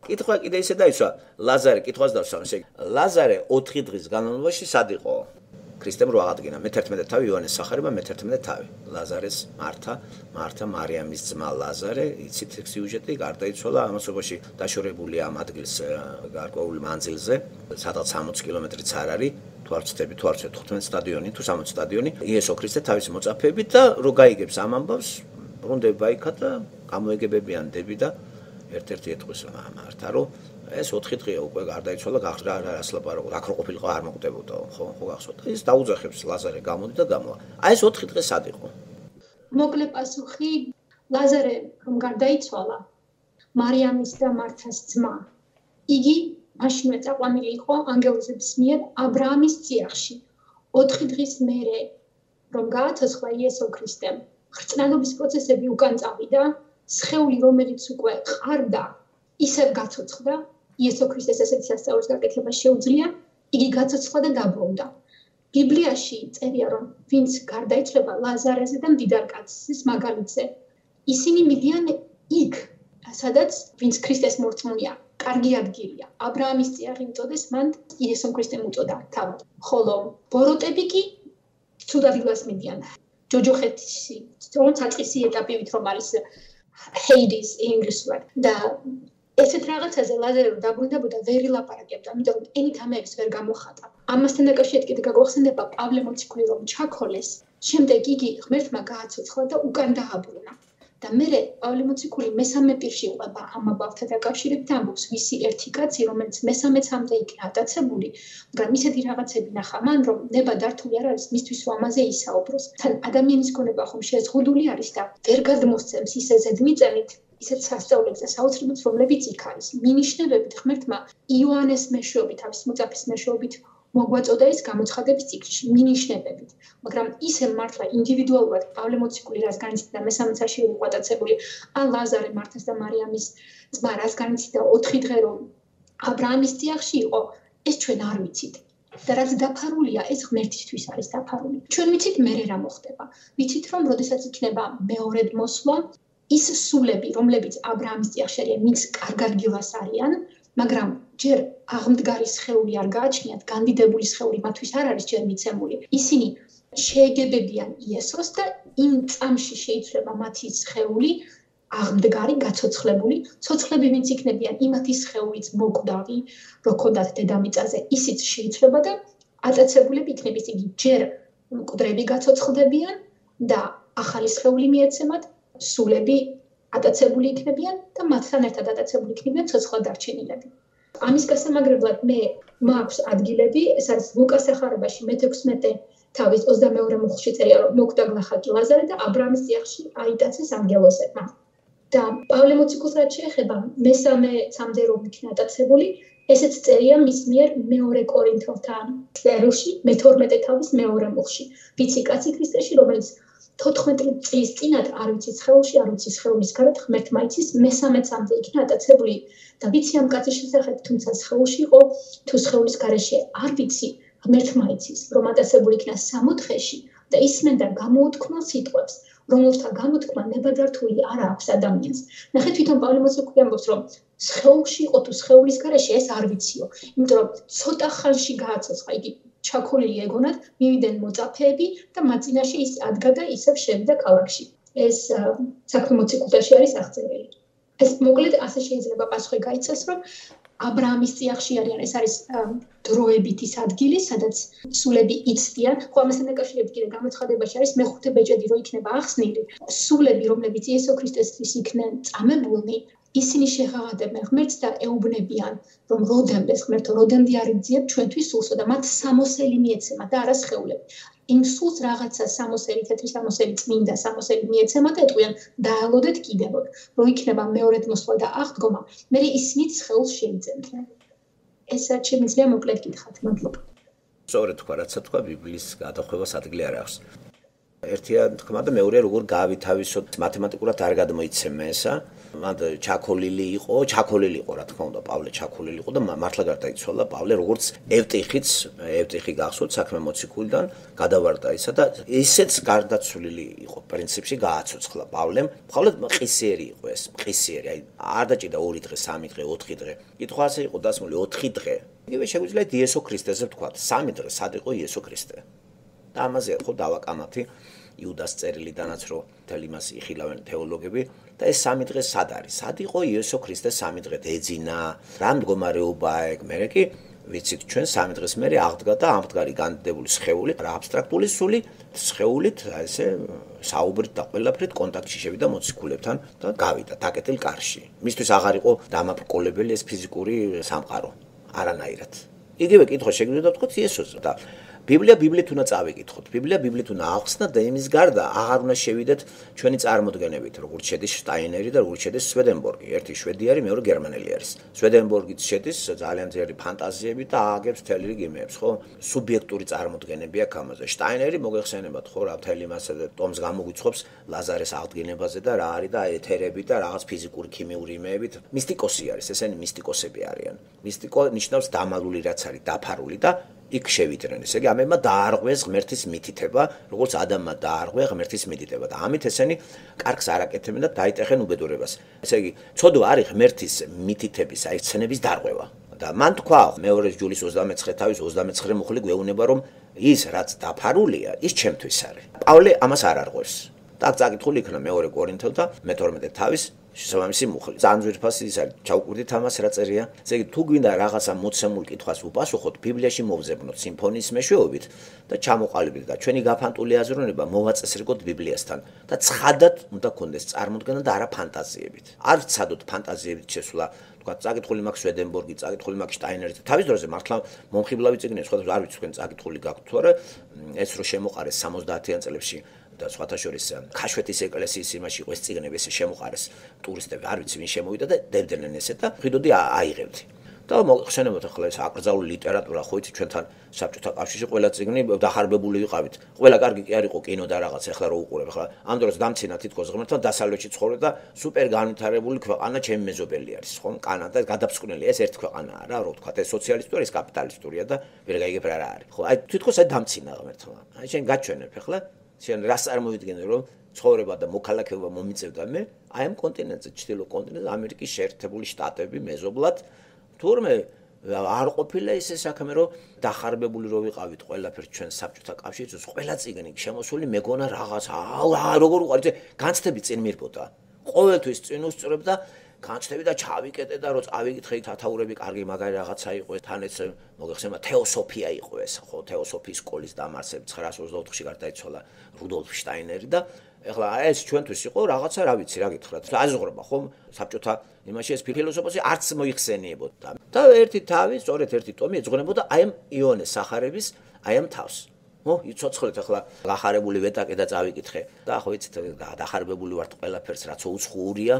კითხვა კიდე ისე დაისვა, ლაზარე კითხვას დავსვამ, ესე ლაზარე 4 დღის განმავლობაში სად იყო? ქრისტემ რო აღადგინა მე-11 თავი იოანეს სახარება მე-11 თავი. ლაზარეს მართა მარიამის ძმა ლაზარე, იცით სიუჟეტი, გარდაიცვალა ამასობაში დაშორებულია ამ ადგილს გარკვეულ მანძილზე, სადაც 60 კილომეტრიც არ არის. თუ არ ვცდები, თუ არ ვცდები 15 სტადიონი, თუ 60 სტადიონი, იესო ქრისტე თავისი მოწაფეებით და რო გაიგებს ამ ამბავს, ბრუნდება იქა და გამოეგებებიან დები და ერთ-ერთი ეთქვის მართა, რომ ეს 4 დღეა უკვე გარდაიცვალა, გახდა რას ლაპარაკობ, აქ რო ყოფილიყო არ მოკვდებოდა, ხო გახსოვთ. ის დაუძახებს ლაზარე გამოდი და გამოვა. აი ეს 4 დღე სად იყო? მოკლე პასუხი, ლაზარე რომ გარდაიცვალა, მარიამის და მართას ძმა. იგი მაშინვე წაყვანილი იყო ანგელოზების მიერ აბრაამის წიაღში. 4 დღის მერე რომ გააცოცხლა იესო ქრისტემ, ხრწნელობის პროცესები უკან წავიდა, სხეული რომელიც უკვე ყარდა, ისევ გაცოცხლდა. იესო ქრისტეს ესეთი სასწაულის გაკეთება შეუძლია, იგი გაცოცხლდა და დაბრუნდა. ბიბლიაში წერია, რომ ვინც გარდაიცვალა ლაზარეზე და მდიდარ კაცის მაგალითზე, ისინი მიდიან იქ, სადაც ვინც ქრისტეს მორწმუნეა, კარგი ადგილია. აბრაამის წიაღი მწოდეს, მან იესო ქრისტემ უწოდა თავად. ხოლო ბოროტები კი ცუდ ადგილას მიდიან. ჯოჯოხეთში, საწყისი ეტაპივით რომ არის Hades ინგლისურად და ესეთ რაღაცაზე ლაზარე რომ დაბრუნდებოდა ვერ ილაპარაკებდა, იმიტომ რომ ენით ამებს ვერ გამოხატა. ამასთან დაკავშირებით კიდე გაგახსენდება პავლე მოციქული რომ ჩაქოლეს, შემდეგ იგი ღმერთმა გააცოცხლა და უკან დააბრუნა. და მერე პავლე მოციქული მესამე პირში იყვება ამ ამბავთან დაკავშირებით და ამბობს, ვისი ერთი კაცი, რომელიც მესამეცამდე იქნა ატაცებული, მაგრამ ისეთი რაღაცები ნახა მან, რომ ნება დართული არ არის მისთვის რომ ამაზე ისაუბროს. თან ადამიანის გონება ხომ შეზღუდული არის და ვერ გადმოსცემს ისე ზედმიწევნით ისეთ სასწაულებს და საოცრებებს, რომლებიც იქ არის. მინიშნებებით ღმერთმა იოანეს მეშვეობით, თავის მოწაფის მეშვეობით მოგვაწოდა ის გამოცხადების ციკლში, მინიშნებებით. მაგრამ ისე მართლა ინდივიდუალურად პავლე მოციქული რას განიცდიდა მესამე საში იყო ატაცებული, ან ლაზარე მართას და მარიამის ძმა რას განიცდიდა 4 დღე რომ აბრაამის წიაღში იყო, ეს ჩვენ არ ვიცით. და რაც დაფარულია, ეს ღმერთისთვის არის დაფარული. ჩვენ ვიცით მერე რა მოხდება. ვიცით რომ როდესაც იქნება მეორედ მოსვლა, ის სულები, რომლებიც აბრაამის წიაღში არიან, ვინც კარგ ადგილას არიან, მაგრამ ჯერ აღმდგარი სხეული არ გააჩნიათ, განდიდებული სხეული მათთვის არ არის ჯერ მიცემული. ისინი შეეგებებიან იესოს და იმ წამში შეიცვლება მათი სხეული აღმდგარი, გაცოცხლებული. ცოცხლები ვინც იქნებიან, იმათი სხეულიც მოკვდავი, რო ქონდათ დედამიწაზე, ისიც შეიცვლება და ატაცებულები იქნების. იგი ჯერ მკვდრები გაცოცხლდებიან და ახალი სხეული მიეცემათ, სულები ატაცებული იქნებიან და მათთან ერთად ატაცებული იქნებიან ცოცხლად დარჩენილები. ამის გასამაგრებლად მე მაქვს ადგილები, ეს არის ლუკას სახარებაში მე-16 თავის 22 მუხლში წერია, რომ მოკვდა გლახაკი ლაზარე და აბრაამის წიაღში აიტაცეს ანგელოზებმა. და პავლე მოციქულს რაც შეეხება მესამეცამდე რომ იქნა ატაცებული, ესეც წერია მის მიერ მეორე კორინთელთა წერილში, მე-12 თავის მეორე მუხლში. ვიცი კაცი ქრისტეში, რომელიც 14 წლის წინათ არ ვიცი სხეულში, არ ვიცი სხეულის გარეთ, ღმერთმა იცის, მესამეცამდე იქნა ატაცებული და ვიცი ამ კაცის შესახებ, თუმცა სხეულში იყო, თუ სხეულის გარეშე არ ვიცი, ღმერთმა იცის, რომ ატაცებული იქნა 60-ში და ისმენდა გამოუთქმელ სიტყვებს, რომელთა გამოთქმა ნებადართული არ აქვს ადამიანს. ნახეთ, თვითონ პავლე მოციქული ამბობს, რომ სხეულში იყო თუ სხეულის გარეშე, ეს არ ვიციო, იმიტომ რომ ცოტა ხანში გააცოცხლა, იგი ჩაქოლილი ეგონათ, მივიდნენ მოწაფეები და მათ წინაშე ის ადგა და ისევ შევიდა ქალაქში. ეს საქმე მოციქულთაში არის აღწერილი. ეს მოკლედ ასე შეიძლება პასუხი გაიცეს, რომ აბრაამის წიაღში არიან, ეს არის დროებით ის ადგილი, სადაც სულები იცდიან. ხო, ამასთან დაკავშირებით კიდე გამოცხადებაში არის მე-5 ბეჭედი რო იქნება ახსნილი. სულები, რომლებიც იესო ქრისტესთვის იქნენ წამებულნი, ისინი შეღაღადებენ ღმერთს და ეუბნებიან, რომ როდემდეს ღმერთო, როდემდე არ იგძიებ ჩვენთვის სულსო და მათ სამოსელი მიეცემა და არა სხეულები. იმ სულს რაღაცა სამოსელი, თეთრი სამოსელი, წმინდა სამოსელი მიეცემა და ეტყვიან დაალოდეთ კიდევ, რო იქნება მეორედ მოსვლა და აღდგომა, მე ისინიც სხეულს შეიძენდნენ. ეს შემიძლია მოკლედ გითხრათ, მადლობა. სწორედ თქვა, რაც თქვა, ბიბლიის გადახვევას ადგილი არ აქვს. ერთია თქმა და მეორე როგორ გაავითავისოთ, მათემატიკურად არ გადმოიცემ ესა. მან ჩაქოლილი იყო, რა თქმა უნდა, პავლე ჩაქოლილი იყო და მართლა გარდაიცვალა პავლე, როგორც ევტიხი გახსოვთ საქმე მოციქულიდან გადავარდა ისა და ისეც გარდაცვლილი იყო პრინციპში გააცოცხლა პავლემ. მხოლოდ ყისიერი იყო ეს, ყისიერი, აი არ დაჭიდა 2 დღე, 3 დღე, 4 დღე. კითხვა ასე იყო დასმული 4 დღე. იგივე შეგვიძლია იესო ქრისტეზე ვთქვა, 3 დღე სად იყო იესო ქრისტე. და ამაზე ხო დავაკამათი იუდას წერილიდანაც რომ თელ იმას იხილავენ თეოლოგები და ეს 3 დღე სად არის? სად იყო იესო ქრისტე 3 დღე ეძინა? რა მდგომარეობაა ეგ? მე კი ვიცით ჩვენ 3 დღეს მერე აღდგა და ამდგარი განდიდებული სხეული, რა აბსტრაქტული სული სხეულით ესე საუბრით და ყველაფრით კონტაქტში შევიდა მოციქულებთან და გავიდა დაკეტილ კარში. მისთვის აღარ იყო დამაბრკოლებელი ეს ფიზიკური სამყარო არანაირად. იგივე კითხვა შეგვიძლია ვთქვათ იესოზე და ბიბლიით უნდა წავიკითხოთ. ბიბლიით უნდა ახსნა და იმის გარდა აღარ უნდა შევიდეთ ჩვენი წარმოდგენებით, როგორც შედის შტაინერი და როგორც შედის სვედენბორგი. ერთი შვედიარი, მეორე გერმანელი არის. სვედენბორგიც შედის ძალიან ძლიერი ფანტაზიები და ააგებს მთელი რიგ იმებს, ხო? სუბიექტური წარმოდგენები აქვს ამაზე. შტაინერი მოგეხსენებათ, ხო, რა მთელი მასე ტომს გამოგვიცხობს ლაზარეს აღდგენებაზე და რა არის და ეთერები და რაღაც ფიზიკური, ქიმიური იმეებით. მისტიკოსი არის, ესენი მისტიკოსები არიან. მისტიკო ნიშნავს დამალული რაც არის, დაფარული და იქ შევიდნენ. ესე იგი, ამებმა დაარღვეს ღმერთის მითითება, როგორც ადამიანმა დაარღვია ღმერთის მითითება და ამით ესენი კარგს არ აკეთებენ და დაიტეხენ უბედურებას. ესე იგი, ცოდვა არის ღმერთის მითითების, აი ცნების დარღვევა. და მან თქვა მეორე ჯულის 29 თავის 29 მუხლი გვეუბნება, რომ ის რაც დაფარულია, ის ჩემთვის არის. პავლე ამას არ არღვევს. და წაკითხული იქნა მეორე კორინთელთა მე-12 თავის შესაბამისი მუხლი. ძალიან ძვირფასი ის არის, ჩავკვირდით ამას რა წერია. ესე იგი, თუ გვინდა რაღაცა მოცემულ კითხვას უპასუხოთ, ბიბლიაში მოვზებნოთ სიმფონიის მეშვეობით და ჩამოყალიბდეთ და ჩვენი გაფანტული აზროვნება მოვაწესრიგოთ ბიბლიასთან და ცხადად უნდა გქონდეს წარმოდგენა და არა ფანტაზიებით. არ ვცადოთ ფანტაზიებით შესვლა, თქვა წაკითხული მაქვს სვედენბორგი, წაკითხული მაქვს შტაინერი. თავის დროზე მართლა მომხიბლავი წიგნი, სხვადასხვა არ ვიცი თქვენ წაკითხული გაქვთ თუ არა, ეს რო შემოყარეს 70-იან წლებში და სხვათა შორის ქაშვეთის ეკლესიის იმაში იყო ეს წიგნები ესე შემოყარეს ტურისტები არ ვიცი ვინ შემოვიდა და დებდნენ ესე და ხედოდი აიღებდი და მოხსენებათ ახლა ეს აკრძალული ლიტერატურა ხო იცი ჩვენთან საბჭოთა კავშირში ყველა წიგნი დახარბებული ვიყავით ყველა კარგი კი არ იყო კინო და რაღაც ახლა რო უყურებ ახლა ამ დროს დამცინა თითქოს ღმერთთან დასავლეთში ცხოვრობ და სუპერ განვითარებული ქვეყანა ჩემი მეზობელი არის ხო კანადა გადაფსკვნელია ეს ერთი ქვეყანაა რა რო ვთქვა ეს სოციალისტური ეს კაპიტალისტურია და ვერ გაიგებ რა არის ხო აი თითქოს აი დამცინა ღმერთმა აი შენ გაჩვენებ ახლა შენ რას წარმოვიდგენე რომ ცხოვრება და მოქალაქეობა მომიწევდა მე აი ამ კონტინენტზე ჩრდილო კონტინენტზე ამერიკის შეერთებული შტატები მეზობლად თურმე არ ყოფილა ისე საქმე რომ დახარბებული რო ვიყავით ყველაფერს ჩვენ საბჭოთა კავშირში ყველა წიგნი შემოსული მეგონა რაღაც როგორ უყარით განცდები წინ მირბოდა ყოველთვის წინ უსწრებ და განცდები და ჩავიკეტე და რო წავიკითხე თათაურები კარგი მაგარი რაღაცა იყო თან ეს მოგეხსენება თეოსოფია იყო ეს ხო თეოსოფიის სკოლის დამარსები 924-ში გარდაიცვალა რუდოლფ შტაინერი და ეხლა ეს ჩვენთვის იყო რაღაცა რა ვიცი რა გითხრათ აზღრობა ხო საბჭოთა იმაში ეს ფილოსოფოსი არც მოიხსენიებოდა და ერთი თავი სწორედ ერთი ტომი ეძღვნებოდა აი ამ იონეს სახარების აი ამ თავს ო იცოცხლეთ ახლა გახარებული ვეტაკე და წავიკითხე და ხო იცით დახარბებული ვართ ყველაფერს რაც უცხოურია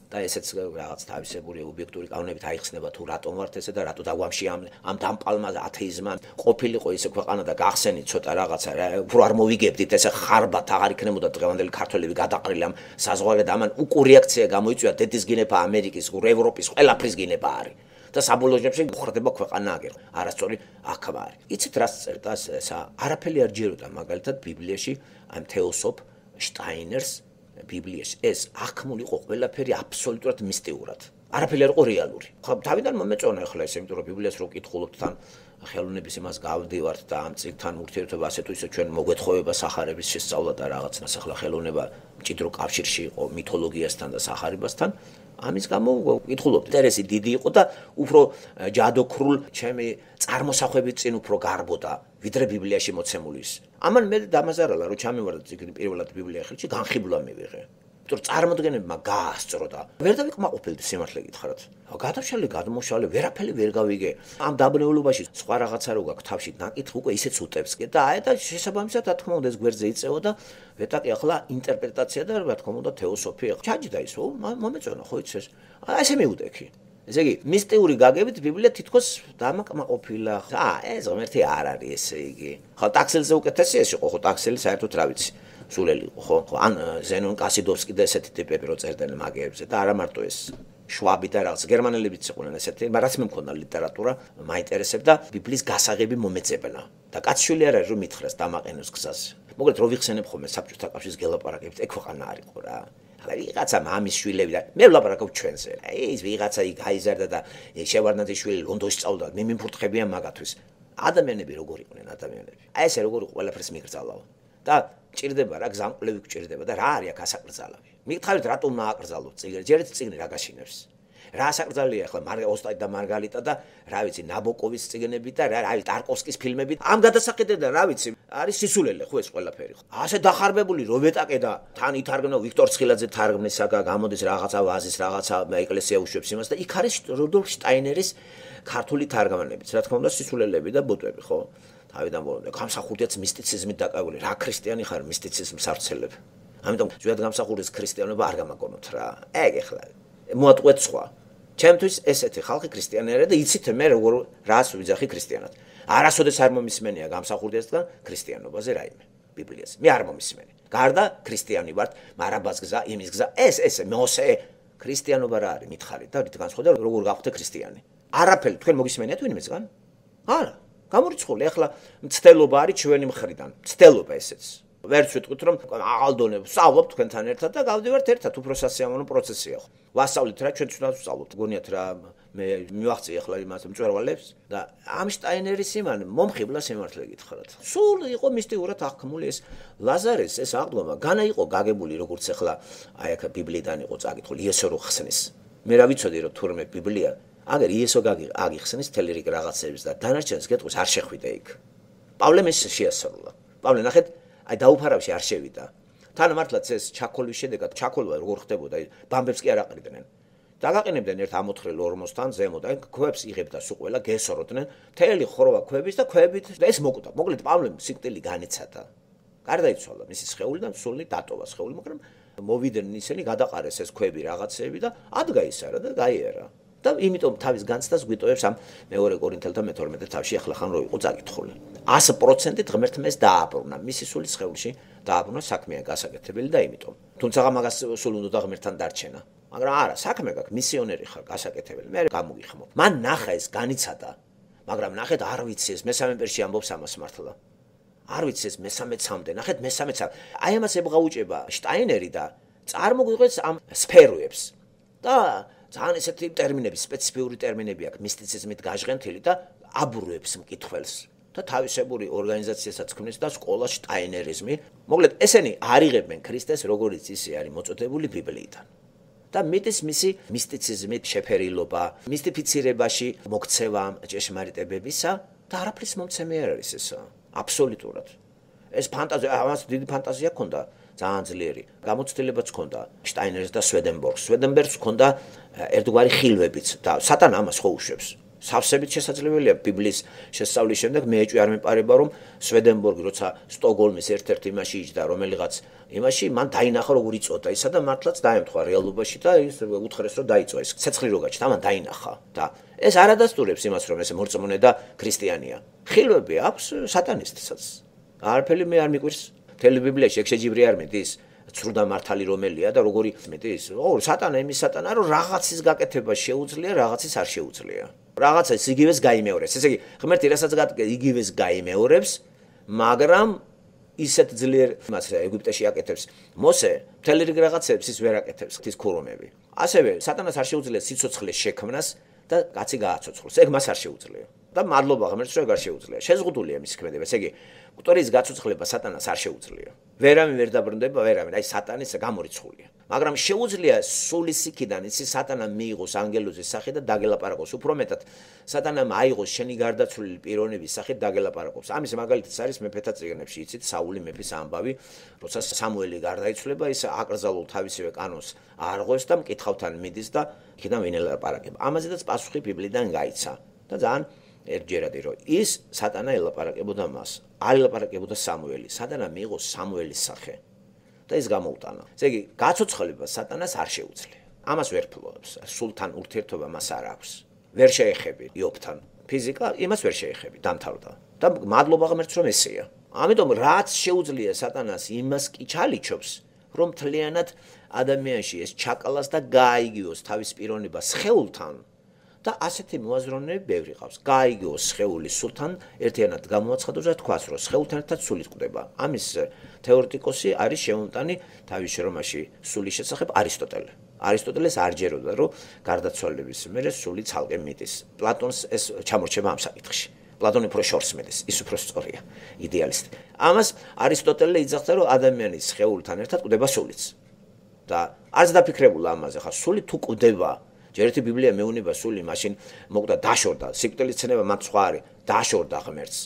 და ესეც რაღაც თავისებური ობიექტური კანონებით აიხსნება თუ რატომ ვართ ესე და რატო დაგვამში ამ დამპალმა ათეიზმმა ყოფილიყო ისე ქვეყანა და გახსენით ცოტა რაღაცა უფრო არ მოვიგებდით ესე ხარბათ აღარ იქნებოდა დღევანდელი ქართველები გადაყრილი ამ საზღვარგან და ამან უკუ რეაქცია გამოიწვია დედის გინება ამერიკის ევროპის ყველაფრის გინება არის და საბოლოო ჯამში ხრდება ქვეყანა აგერ არასწორი აქა არის იცით რას წერდა ესა არაფერი არ ჯეროდა მაგალითად ბიბლიაში ამ თეოსოფ შტაინერს ბიბლიაში ეს აღქმული იყო ყველაფერი აბსოლუტურად მისტიურად. არაფერი არ იყო რეალური. ხო თავიდან მომეწონა ახლა ეს იმიტომ რომ ბიბლიას რო ვკითხულობთ თან ხელოვნების იმას გავდივართ და ამ წიგნთან ურთიერთობა ასე თუ ისე ჩვენ მოგვეთხოვება სახარების შესწავლა და რაღაცნაირად ახლა ხელოვნება მჭიდრო კავშირში იყო მითოლოგიასთან და სახარებასთან. ამის გამო ვკითხულობთ. ინტერესი დიდი იყო და უფრო ჯადოქრულ ჩემი წარმოსახვებით წინ უფრო გარბოდა ვიდრე ბიბლიაში მოცემული ის. ამან მე დამაზარალა რომ ჩამივარდა წიგნი პირველად ბიბლია ხელში განხიბლა მივიღე. იმიტომ წარმოდგენებმა გაასწრო და ვერ დავიკმაყოფილდი სიმართლე გითხრათ. გადავშალე, გადმოშალე, ვერაფერი ვერ გავიგე. ამ დაბნეულობაში სხვა რაღაცა რო გაქვს თავში ნაკითხი უკვე ისეც უტევს კი და აი და შესაბამისად რა თქმა უნდა ეს გვერდზე იწევა და ვეტაკი ახლა ინტერპრეტაცია და რა თქმა უნდა თეოსოფია. ჩაჯდა ისო მომეწონა ხო იცი ეს. აი ესე მივუტექი. ესე იგი მისტიური გაგებით ბიბლია თითქოს დამაკმაყოფილა. ეს ღმერთი არ არის ესე იგი. ხო ტაქსელზე უკეთესი ეს იყო ხო ტაქსელი საერთოდ რა ვიცი. სულელი იყო, ხო? ან ზენონ კასიდოვსკი და ესეთი ტიპები რო წერდნენ მაგიებზე და არა მარტო ეს შვაბი და რაღაც გერმანელებიც იყვნენ ესეთი, მაგრამ მე მქონდა ლიტერატურა, მაინტერესებდა ბიბლიის გასაღები მომეწებნა და კაცშვილი არ არის რომ მითხრას დამაყენოს გზაზე. მოკლედ რო ვიხსენებ ხოლმე საბჭოთა კავშირის გელაპარაკებით, ეგ ქვეყანა არ იყო რა. ახლა ვიღაცა მამის შვილები და მე ვლაპარაკობ ჩვენზე. ის ვიღაცა იქ გაიზარდა და შევარდნაძის შვილი ლონდონში სწავლდა, მე მიმფურთხებია მაგათვის. ადამიანები როგორ იყვნენ ადამიანები. აი ესე როგორ იყო ყველაფერს მიგრძალავ. და ჭირდება რა გზამკვლევი გჭირდება და რა არის აქ ასაკრძალავი. მიგითხარით რატომ მააკრძალოთ წიგნი? ჯერეთ წიგნი რა გაშინებს. რა ასაკრძალია ახლა ოსტატი და მარგალიტა და რა ვიცი ნაბოკოვის წიგნები და რა არის ტარკოვსკის ფილმები. ამ გადასახედიდან რა ვიცი არის სისულელე ხო ეს ყველაფერი ხო. ასე დახარბებული რობეტაკე და თან ითარგმნა ვიქტორ ცხილაძე თარგმნისაგა გამოდის რაღაცა ვაზის რაღაცა ეკლესია უშვებს იმას და იქ არის რუდოლფ შტაინერის ქართული თარგმანებიც. რა თქმა უნდა სისულელები და ბოტები ხო. თავიდან ბოლომდე გამსახურდიაც მისტიციზმით დაკავებული. რა ქრისტიანი ხარ მისტიციზმს არცელებ. ამიტომ ზოგადად გამსახურდის ქრისტიანობა არ გამაგონოთ რა. ეგ ახლა მოატყვეთ სხვა. ჩემთვის ესეთი ხალხი ქრისტიანი არა და იცით მე როგორ რას ვიძახი ქრისტიანად. არასოდეს არ მომისმენია გამსახურდიასთან ქრისტიანობაზე რაიმე ბიბლიაზე. მე არ მომისმენი. გარდა ქრისტიანი ვართ, მარაბას გზა, იმის გზა, ეს მოსე ქრისტიანობა რა არის მითხარით და რით განსხვავდა როგორ გავხდე ქრისტიანი. არაფერი თქვენ მოგისმენიათ ვინმესგან? არა. გამორიცხული ახლა მცდელობა არის ჩვენი მხრიდან. მცდელობა ესეც. ვერც ვიტყვით რომ აღალდონებ, ვსწავლობ თქვენთან ერთად და გავდივართ ერთად, უფრო სასიამოვნო პროცესია ხო. ვასწავლით რა ჩვენ თვითონ ვსწავლობთ. გონიათ რა მე მივახწი ახლა იმას მწვერვალებს და ამ შტაინერის იმან მომხიბლა სიმართლე გითხრათ. სულ იყო მისტიურად აღქმული ეს ლაზარეს ეს აღდგომა, განა იყო გაგებული როგორც ახლა აი აქ ბიბლიიდან იყო წაკითხული იესო რო ხსნის. მე რა ვიცოდი რომ თურმე ბიბლია აგერ იესო აგიხსნის თელი რიგ რაღაცებს და დანარჩენს გეტყვის არ შეხვიდე იქ. პავლემ ეს შეასრულა. პავლე ნახეთ აი დაუფარავში არ შევიდა. თან მართლაც ეს ჩაქოლვის შედეგად ჩაქოლვა როგორ ხდებოდა, ბამბებს კი არ აყრიდნენ. დაგაყენებდნენ ერთ ამოთხრილ ორმოსთან ზემოთ, აი ქვებს იღებდა სულ ყველა გესოროდნენ, მთელი ხროვა ქვების და ქვებით და ეს მოკვდა. მოკლედ პავლემ სიკვდილი განიცადა. გარდაიცვალა მისი სხეული და სული დატოვა სხეული, მაგრამ მოვიდნენ ისინი გადაყარეს ეს ქვები რაღაცეები და ადგაისარა და გაიარა. და იმიტომ თავის განცდას გვიტოვებს ამ მეორე კორინთელთა მე-12 თავში ახლა ხან რო იყო წაკითხული. 100% ღმერთმეს დააბრუნა, მისი სული სხეულში დააბრუნა საქმეა გასაკეთებელი და იმიტომ. თუმცა მაგას სულ უნდა ღმერთთან დარჩენა. მაგრამ არა, საქმე გაქვს, მისიონერი ხარ, გასაკეთებელი. მე გამოგიხმო. მან ნახა ეს განიცადა. მაგრამ ნახეთ არ ვიცი ეს მესამე პერსი ამბობს ამას მართლა. არ ვიცი ეს მესამეცამდე, ნახეთ მესამეცამდე. აი ამას ებღაუჭება შტაინერი და წარმოგვიყვეს ამ სფეროებს. და ძალიან ესეთი ტერმინები, სპეციფიური ტერმინები აქვს მისტიციზმით გაჟღენთილი და აბურვებს მკითხველს. და თავისებური ორგანიზაციასაც ქმნის და სკოლა შტაინერიზმი. მოკლედ ესენი არიღებენ ქრისტეს როგორც ისე არის მოწოდებული ბიბლიიდან. და მიდის მისი მისტიციზმით შეფერილობა, მისტიფიცირებაში მოქცევა ჭეშმარიტებებისა და არაფრის მომცემი არ არის ესა. აბსოლუტურად. ეს ფანტაზია, ამას დიდი ფანტაზია ჰქონდა. ძალიან ძლიერი გამოცდილებაც ჰქონდა შტაინერს და სვედენბორგს. სვედენბერგს ჰქონდა ერთგვარი ხილვებიც და სატანა ამას ხო უშვებს. სავსებით შესაძლებელია ბიბლიის შესწავლის შემდეგ მე ეჭვი არ მეპარება რომ სვედენბორგი როცა სტოკჰოლმის ერთ-ერთ იმაში იჯდა რომელიღაც იმაში მან დაინახა როგორ იწოდა ისა და მართლაც დაემთხვა რეალობაში და ის უთხრეს რომ დაიწვა ეს ცეცხლი რო გაჩნდა მან დაინახა და ეს არ ადასტურებს იმას რომ ეს მორწმუნე და ქრისტიანია. ხილვები აქვს სატანისტსაც. არაფერი მე არ მიკვირს. მთელი ბიბლიაში ეგ შეჯიბრი არ მიდის ცრუდა მართალი რომელია და როგორი მიდის? ო სატანა იმის სატანა რომ რაღაცის გაკეთება შეუძლია, რაღაცის არ შეუძლია. რაღაცას იგივეს გაიმეორებს. ესე იგი, ღმერთი რასაც იგივეს გაიმეორებს, მაგრამ ისეთ ძლიერ იმას ეგვიპტეში აკეთებს. მოსე მთელი რიგ რაღაცებს ის ვერ აკეთებს, ის ქურუმები. ასევე სატანას არ შეუძლია სიცოცხლეს შექმნას და კაცი გააცოცხლოს. ეგ მას არ შეუძლია. და მადლობა ღმერთს რომ არ შეუძლია. შეზღუდულია მის ქმედება. ესე იგი, კუტორის გაცოცხლება სატანას არ შეუძლია. ვერავინ ვერ დაბრუნდება, ვერავინ, აი სატანის გამორიცხულია. მაგრამ შეუძლია სულის იქიდან ისი სატანა მიიღოს ანგელოზის სახით და დაგელაპარაკოს. უფრო მეტად სატანამ აიღოს შენი გარდაცვლილი პიროვნების სახით დაგელაპარაკოს. ამის მაგალითიც არის მეფეთა წიგნებში, იცით, საული მეფის ამბავი, როცა სამუელი გარდაიცვლება, ის აკრძალულ თავისივე კანონს არღვევს და მკითხავთან მიდის და იქიდან ვინ ელაპარაკება. ამაზედაც პასუხი ბიბლიდან გაიცა და ძალიან ერთჯერადი რომ ის სატანა ელაპარაკებოდა მას. არ ელაპარაკებოდა სამუელი. სატანა მიიღო სამუელის სახე და ის გამოუტანა. ესე იგი, გაცოცხლება სატანას არ შეუძლია. ამას ვერ ფლობს. სულთან ურთიერთობა მას არ აქვს. ვერ შეეხები იობთან. ფიზიკა იმას ვერ შეეხები, დამთავრდა. და მადლობა ღმერთს რომ ესეა. ამიტომ რაც შეუძლია სატანას იმას კი ჩალიჩობს, რომ მთლიანად ადამიანში ეს ჩაკალას და გააიგიოს თავის პიროვნება სხეულთან და ასეთი მოაზროვნეები ბევრი ყავს. გააიგიოს სხეული სულთან ერთიანად გამოაცხადოს და თქვას, რომ სხეულთან ერთად სული წყდება. ამის თეორეტიკოსი არის შემოტანი თავის შრომაში სულის შესახებ არისტოტელე. არისტოტელეს არ ჯეროდა, რომ გარდაცვალების მერე სული ცალკე მიდის. პლატონს ეს ჩამორჩება ამ საკითხში. პლატონი უფრო შორს მიდის, ის უფრო სწორია, იდეალისტი. ამას არისტოტელე იძახდა, რომ ადამიანის სხეულთან ერთად კვდება სულიც. და არც დაფიქრებულა ამაზე, ხა სული თუ კვდება, ჯერ ერთი ბიბლია მეუნება სული, მაშინ მოკვდა დაშორდა, სიკვდილის ცნება მათ სხვა არის, დაშორდა ღმერთს.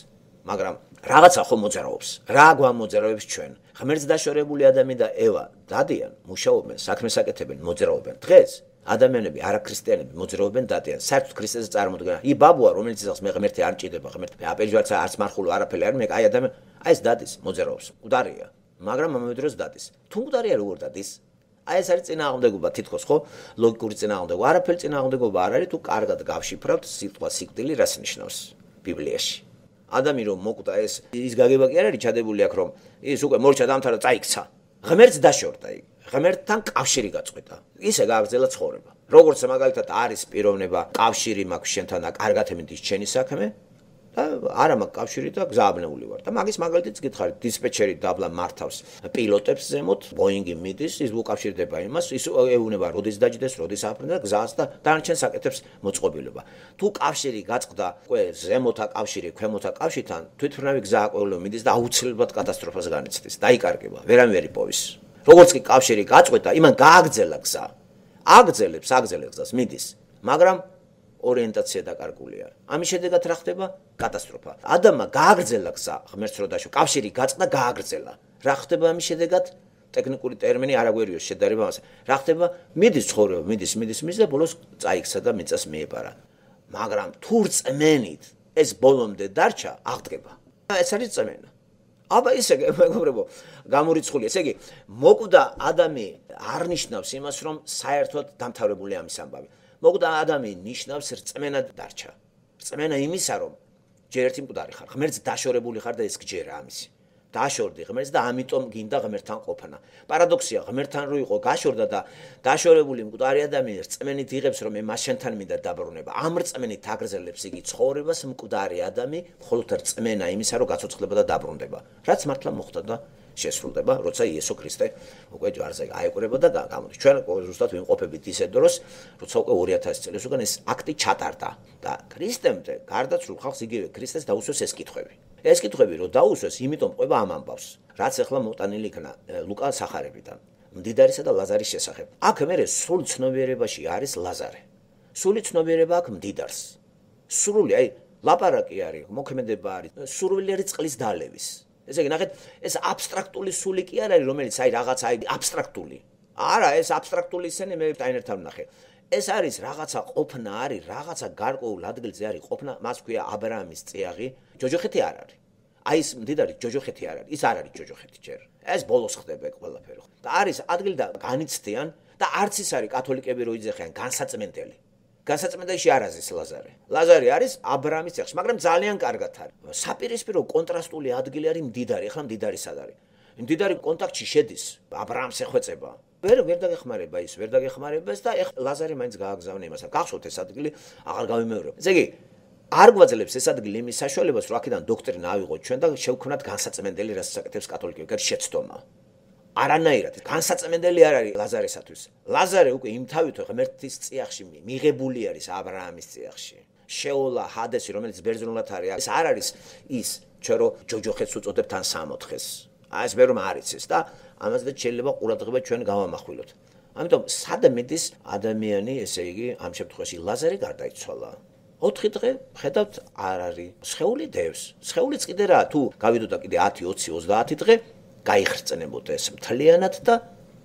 მაგრამ რაღაცა ხო მოძრაობს. რა გვამოძრაობს ჩვენ? ღმერთს დაშორებული ადამი და ევა დადიან, მუშაობენ, საქმეს აკეთებენ, მოძრაობენ. დღეს ადამიანები, არაქრისტიანები მოძრაობენ დადიან. საერთოდ ქრისტეს წარმოდგენა. ბაბუა, რომელიც იცავს მე ღმერთი არ მჭირდება, ღმერთი აპერჯვარც არც მარხულო არაფერი არ მე აი ადამიანი, აი ეს დადის, მოძრაობს. მკვდარია, მაგრამ ამავე დროს დადის. თუ მკვდარია როგორ დადის? აი ეს არის წინააღმდეგობა თითქოს, ხო? ლოგიკური წინააღმდეგობა. არაფერი წინააღმდეგობა არ არის, თუ კარგად გავშიფრავთ სიტყვა სიკვდილი რას ნიშნავს ბიბლიაში. ადამი რომ მოკვდა ის გაგება კი არ არის ჩადებული აქ რომ ის უკვე მორჩა დამთავრდა წაიქცა. ღმერთს დაშორდა იქ. ღმერთთან კავშირი გაწყვეტა. ისე გააგრძელა ცხოვრება. როგორც მაგალითად არის პიროვნება, კავშირი მაქვს შენთან და კარგად ემდის შენი საქმე და არა მაქვს კავშირი და გზააბნეული ვარ. და მაგის მაგალითიც გითხარით, დისპეჩერი დაბლა მართავს პილოტებს ზემოთ, ბოინგი მიდის, ის უკავშირდება იმას, ის ეუბნება როდის დაჯდეს, როდის აფრინდა გზას და დანარჩენ საკეთებს მოწყობილობა. თუ კავშირი გაწყდა, უკვე ზემოთა კავშირი, ქვემოთა კავშირთან, თვითმფრინავი გზა აკვეულო მიდის და აუცილებლად კატასტროფას განიცდის. დაიკარგება, ვერანაირი პოვის. როგორც კი კავშირი გაწყვეტა, იმან გააგრძელა გზა. აგრძელებს გზას მიდის, მაგრამ ორიენტაცია დაკარგულია. ამის შედეგად რა ხდება? კატასტროფა. ადამიანმა გააგრძელა გზა, ღმერთს რო დაშო, კავშირი გაწყდა, გააგრძელა. რა ხდება ამის შედეგად? ტექნიკური ტერმინი არ აგვერიოს შედარება ამას. რა ხდება? მიდის ცხოვრება, მიდის და ბოლოს წაიქცა და მიწას მიეპარა. მაგრამ თუ რწმენით ეს ბოლომდე დარჩა, აღდგება. ეს არის რწმენა. აბა ისე მეგობრებო, გამორიცხული. ესე იგი, მოკვდა ადამი არ ნიშნავს იმას, რომ საერთოდ დამთავრებული ამის ამბავი. მოკვდა ადამი ნიშნავს რწმენად დარჩა. რწმენა იმისა, რომ ჯერ ერთი მკვდარი ხარ, ღმერთს დაშორებული ხარ და ეს გჯერა ამისი. დაშორდი ღმერთს და ამიტომ გინდა ღმერთთან ყოფნა. პარადოქსია, ღმერთთან რო იყო გაშორდა და დაშორებული მკვდარი ადამი რწმენით იღებს, რომ მე მას შენთან მინდა დაბრუნება. ამ რწმენით აგრძელებს იგი ცხოვრებას მკვდარი ადამი, მხოლოდ რწმენა იმისა, რომ გაცოცხლდება და დაბრუნდება. რაც მართლა მოხდა და შესრულდება, როცა იესო ქრისტე უკვე ჯვარზე აეკვრება და გამოდის. ჩვენ ზუსტად ვიმყოფებით ისე დროს, როცა უკვე 2000 წელს უკან ეს აქტი ჩატარდა და ქრისტემდე გარდაცვლილ ხალხს იგივე ქრისტეს დაუსვეს ეს კითხვები. ეს კითხვები რომ დაუსვეს, იმიტომ ყვება ამ ამბავს, რაც ახლა მოტანილი იქნა ლუკა სახარებიდან, მდიდარისა და ლაზარის შესახებ. აქ მერე სრული ცნობიერებაში არის ლაზარე. სრული ცნობიერება აქვს მდიდარს. სრული, აი, ლაპარაკი არის, მოქმედება არის, სურვილი წყლის დალევის. ესე იგი, ნახეთ, ეს აბსტრაქტული სული კი არ არის, რომელიც აი რაღაცა აი აბსტრაქტული. არა, ეს აბსტრაქტული ისენი მე დაინერთან ვნახე. ეს არის რაღაცა ყოფნა არის, რაღაცა გარკვეულ ადგილზე არის ყოფნა, მას ქვია აბრაამის წიაღი, ჯოჯოხეთი არ არის. აი ეს მდიდარი ჯოჯოხეთი არ არის, ის არ არის ჯოჯოხეთი ჯერ. ეს ბოლოს ხდება ეგ ყველაფერი. და არის ადგილი და განიცდიან და არც ის არის კათოლიკები რო იძახიან განსაწმენდელი. განსაწმენდელში არ არის ლაზარე. ლაზარე არის აბრაამის წიაღში, მაგრამ ძალიან კარგად არის. საპირისპირო კონტრასტული ადგილი არის მდიდარი, ახლა მდიდარი სად არის? მდიდარი კონტაქტში შედის, აბრაამს ეხვეწება. ვერ დაგეხმარება ის, ვერ დაგეხმარებას და ეხლა ლაზარე მაინც გააგზავნა იმასა. გახსოვთ ეს ადგილი, აღარ გავიმეორებ. ესე იგი, არ გვაძლევს ეს ადგილი იმის საშუალებას, რომ აქედან დოქტრინა ავიღოთ ჩვენ და შევქმნათ განსაწმენდელი, რასაც აკეთებს კათოლიკები, კაც შეცდომა. არანაირად, განსაწმენდელი არ არის ლაზარესათვის. ლაზარე უკვე იმთავითო ღმერთის წიაღში მიღებული არის აბრაამის წიაღში. შეოლა ჰადესი, რომელიც ბერძნულად არის, ეს არ არის ის, ჩვენ რო ჯოჯოხეთს უწოდებთ ან სამოთხეს. აი ეს ვერ მარიცის და ამაზე შეიძლება ყურადღება ჩვენ გავამახვილოთ. ამიტომ სად მიდის ადამიანი, ესე იგი, ამ შემთხვევაში ლაზარე გარდაიცვალა. 4 დღე ხედავთ არ არის. სხეული დევს. სხეულიც კიდე რა, თუ გავიდოდა კიდე 10, 20, 30 დღე გაიხრწნებოდა ეს მთლიანად და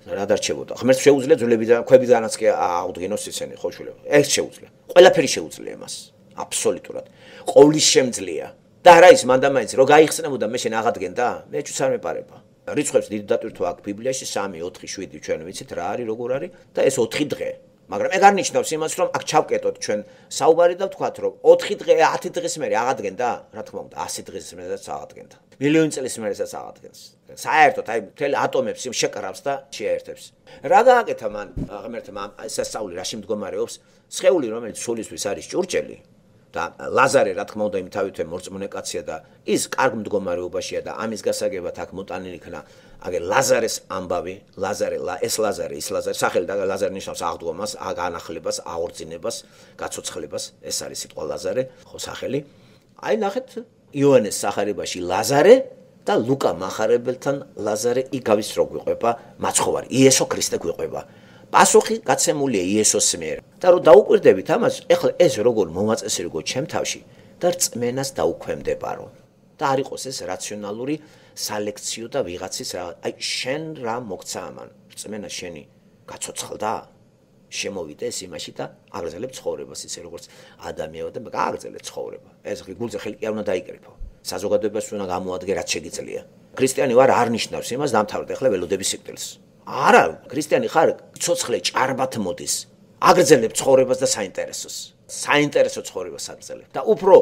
რა დარჩებოდა. ღმერთს შეუძლია ძვლებიდან, ქვებიდანაც კი აუდგინოს ისინი, ხო შვილებო. ეს შეუძლია. ყველაფერი შეუძლია მას. აბსოლუტურად. ყოვლის შემძლია. და რა ის მანდამაინც რო გაიხსნებოდა მე შენ აღადგენდა? მე ჩვენს არ მეპარება. რიცხვებს დიდი დატვირთვა აქვს ბიბლიაში 3, 4, 7 ჩვენ ვიცით რა არის, როგორ არის და ეს 4 დღე. მაგრამ ეგ არ ნიშნავს იმას, რომ აქ ჩავკეტოთ ჩვენ საუბარი და ვთქვათ, რომ 4 დღე, 10 დღის მერე აღადგენდა, რა თქმა უნდა, 100 დღის მერეაც აღადგენდა. მილიონი წლის მერეაც აღადგენს. საერთოდ აი მთელი ატომებს შეკრავს და შეერთებს. რა გააკეთა მან ღმერთმა სასწაული რაში მდგომარეობს? სხეული, რომელიც სულისთვის არის ჭურჭელი და ლაზარე, რა თქმა უნდა, იმთავითვე მორწმუნე კაცია და ის კარგ მდგომარეობაშია და ამის გასაგებად აქ მოტანილი იქნა აგერ ლაზარეს ამბავი, ეს ლაზარე, სახელი და ლაზარე ნიშნავს აღდგომას, განახლებას, აღორძინებას, გაცოცხლებას, ეს არის სიტყვა ლაზარე, ხო სახელი. აი ნახეთ იოანეს სახარებაში ლაზარე და ლუკა მახარებელთან ლაზარე იგავის რო გვიყვება მაცხოვარი, იესო ქრისტე გვიყვება. პასუხი გაცემულია იესოს მიერ. და რომ დაუკვირდებით ამას, ეხლა ეს როგორ მომაწესრიგო ჩემ თავში და რწმენას დაუქვემდებარო. და არ იყოს ეს რაციონალური სალექციო და ვიღაცის რა, აი შენ რა მოგცა ამან, რწმენა შენი გაცოცხლდა, შემოვიდეს იმაში და აგრძელებ ცხოვრებას ისე როგორც ადამიანო და გააგრძელე ცხოვრება. ეს გულზე ხელი კი არ უნდა დაიკრიფო. საზოგადოებას უნდა გამოადგე რაც შეგიძლია. ქრისტიანი ვარ არ ნიშნავს იმას დამთავრდა ახლა ველოდების სიკვდილს. არა, ქრისტიანი ხარ, ცოცხლე ჭარბად მოდის. აგრძელებ ცხოვრებას და საინტერესოს. საინტერესო ცხოვრებას აგრძელებ და უფრო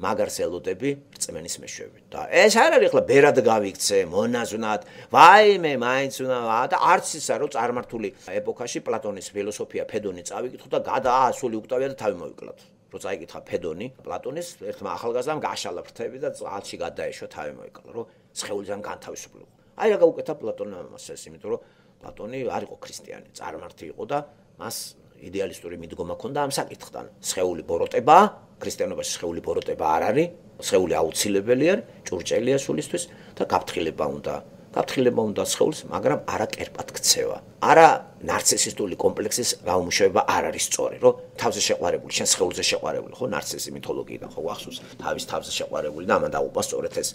მაგარს ელოდები რწმენის მეშვეობით. და ეს არ არის ახლა ბერად გავიქცე, მონაზვნად, ვაიმე, მაინც უნდა და არც ისა რომ წარმართული ეპოქაში პლატონის ფილოსოფია ფედონი წავიკითხო და გადაასული უკტავია და თავი მოვიკლათ. რო წაიკითხა ფედონი, პლატონის ერთმა ახალგაზრდამ გაშალა ფრთები და წყალში გადაეშვა თავი მოვიკლა, რომ სხეულიდან განთავისუფლიყო. აი რა გაუკეთა პლატონმა ამას ეს, იმიტომ რომ პლატონი არ იყო ქრისტიანი, წარმართი იყო და მას იდეალისტური მიდგომა ჰქონდა ამ საკითხთან. სხეული ბოროტებაა, ქრისტიანობაში სხეული ბოროტება არ არის, სხეული აუცილებელია, ჭურჭელია სულისთვის და გაფრთხილება უნდა. გაფრთხილება უნდა სხეულს, მაგრამ არა კერპად ქცევა. არა ნარცისისტული კომპლექსის გაუმუშავება არ არის სწორი, რომ თავზე შეყვარებული, შენ სხეულზე შეყვარებული, ხო, ნარცისი მითოლოგიიდან ხო გახსოვს, თავის თავზე შეყვარებული და ამან დაუპა სწორედ ეს.